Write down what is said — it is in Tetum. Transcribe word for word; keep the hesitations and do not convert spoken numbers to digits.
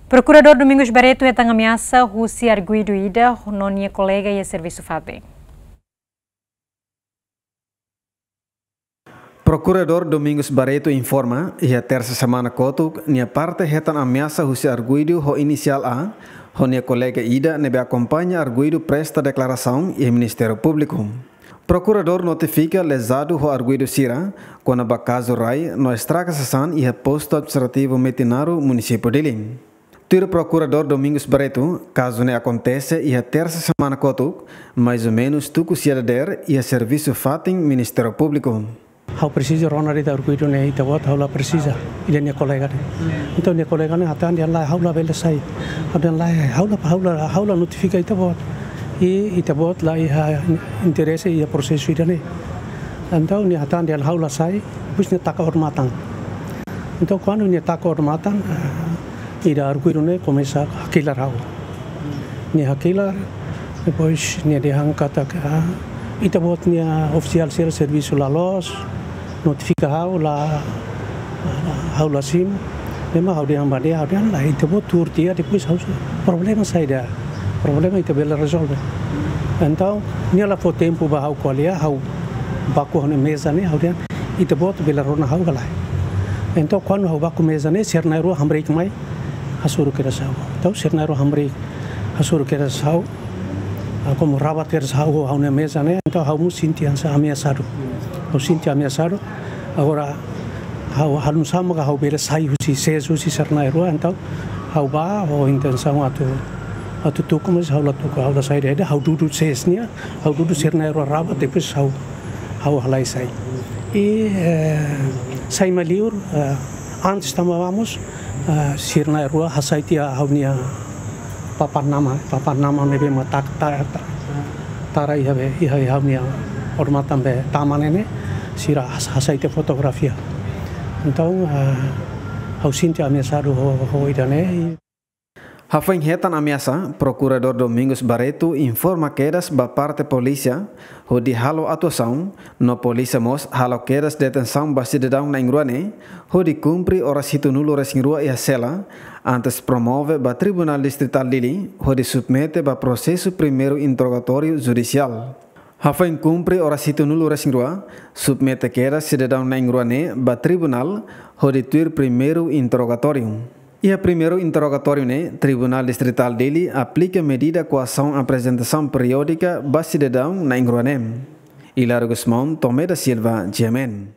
Prokuradór Domingos Barreto hetan ameasa husi arguidu ida no nia kolega iha servisu fatin. Prokuradór Domingos Barreto informa, iha tersa semana kotuk, nia parte hetan ameasa husi arguidu ho inisiál A, ho nia kolega ida ne'ebé akompaña arguidu presta deklarasaun iha Ministériu Públiku. Prokuradór notifika lezadu ho arguidu sira, kona-ba kazu rai no estraga sasán iha Postu Administrativu Metinaro, Munisípiu Dili. Tuir Prokuradór Domingos Barreto, kazu ne'e akontese iha tersa semana kotuk, mais ou menus tuku sia dadeer, iha servisu fatin Ministériu Públiku. Ha'u presiza rona de'it arguidu ne'e, ita-boot ha'u la presiza, ida nia kolega ne'e. Entaun nia kolega ne'e hatán dehan lae, ha'u labele sai. Ha'u dehan lae, ha'u la, ha'u la, ha'u la notifika ita-boot. I ita-boot la iha interese iha prosesu ida-ne'e. Entaun nia hatán dehan ha'u la sai, depois nia taka odamatan. Entaun kuandu nia taka odamatan, eh, ida arguidu ne'e komesa hakilar ha'u. Nia hakilar, depois nia dehan katak, ah, ita-boot nia ofisiál sira servisu la loos, notifika ha'u la, ha'u la simu. Ne'e mak ha'u dehan ba nia, ha'u dehan lae, ita-boot tuur tiha, depois ha'u, problema saida? Problema ita bele rezolve. Entaun nia la fó tempu ba ha'u ko'alia, ha'u baku ha'u-nia meza ne'e, ha'u dehan, ita-boot bele rona ha'u ka lae? Entaun kuandu ha'u baku meza ne'e, sira na'in-rua hamriik mai, hasoru kedas ha'u. Entaun sira na'in-rua hamriik, hasoru kedas ha'u, ah, komu rabat kedas ha'u, ha'u-nia meza ne'e, entaun ha'u mós sente hanesan ameasadu. Ha'u sente ameasadu. Agora, ha'u, ha'u nusá mak ha'u bele sai husi sees husi sira na'in-rua, entaun ha'u bá ho intensaun atu, atu tuku, mais ha'u la tuku, ha'u la sai de'it, ha'u dudu sees nian, ha'u dudu sira na'in-rua rabat, depois ha'u, ha'u halai sai. I, eh, sai mai liur, eh, antes tama vamos, eh, sira na'in-rua hasai tiha ha'u-nia papan nama, papan nama ne'ebé mak taka, ta-, ta-, tara iha be, iha, iha ha'u-nia odamatan be tama ne'e ne'e, sira has-, hasai tiha fotografia. Entaun, eh, ha'u sente ameasadu ho, ho ida-ne'e. Hafoin hetan ameasa, Prokuradór Domingos Barreto informa kedas ba parte polísia, hodi halo atuasaun, no polísia mós halo kedas detensaun ba sidadaun na'in-rua ne'e, hodi kumpre oras hitunulu-resin-rua iha sela, antes promove ba Tribunál Distritál Dili, hodi submete ba prosesu primeiru interrogatóriu judisiál. Hafoin kumpre oras hitunulu-resin-rua, submete kedas sidadaun na'in-rua ne'e ba tribunál, hodi tuir primeiru interrogatóriu. Iha primeiru interrogatóriu ne'e, Tribunál Distritál Dili aplika medida koasaun aprezentasaun periódika ba sidadaun na'in-rua ne'e. Hilário Gusmão, Tomé da Silva, G M N.